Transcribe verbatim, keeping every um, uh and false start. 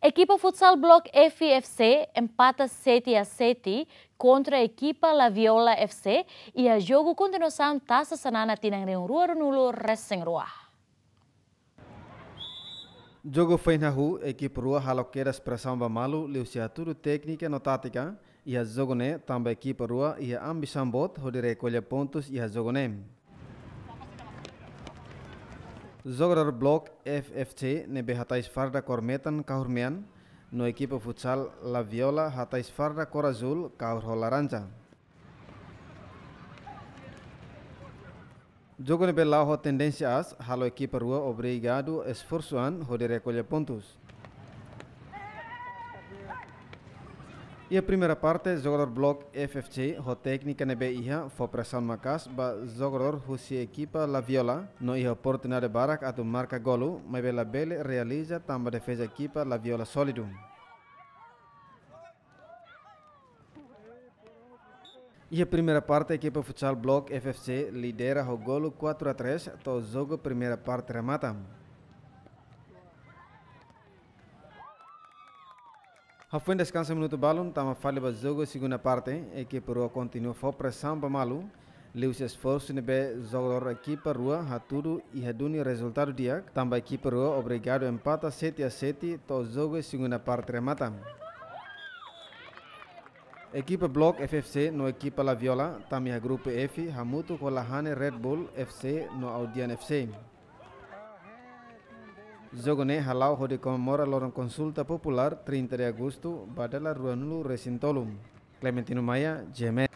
Ekipa futsal Block F F C empata sete a sete kontra ekipa La Viola F C iha jogu kontinuasaun Tasa Xanana tinan rihun rua ruanulu resin rua. Jogu foin hahú, ekipa rua halo kedas presaun ba malu liuhusi hatudu téknika no tátika iha jogu ne'e, tanba ekipa rua iha ambisaun boot hodi rekolla pontus iha jogu ne'e. Jogadór Block F F C ne'ebé hatais farda kór metan kahur mean, no ekipa futsal La Viola hatais farda kór azúl kahur ho laranja. Jogu ne'ebé la'o ho tendénsia aas, halo ekipa rua obrigadu esforsu an hodi rekolla pontus. Iha primeira parte, jogadór Block F F C ho téknika ne'ebé iha fó presaun maka'as ba jogadór husi ekipa La Viola, no iha oportunidade barak atu marka golu, maibé labele realiza tanba defeza ekipa La Viola sólidu. Iha primeira parte, ekipa futsal Block F F C lidera ho golu quatro a três, to'o jogu primeira parte remata. Hafoin deskansa minutu balun, tama fali ba jogu segunda parte, ekipa rua kontinua fó presaun ba malu, liuhusi esforsu ne'ebé jogadór ekipa rua hatudu iha duni rezultadu di'ak, tanba ekipa rua obrigadu empata sete a sete to'o jogu segunda parte remata. Ekipa Block F F C no ekipa La Viola tama iha grupu F hamutuk ho Lahane Red Bull F C no Audian F C. Jogu ne'e hala'o hodi komemora loron konsulta populár trinta de agostu ba dala ruanulu resin tolu. Clementino Maia, G M N.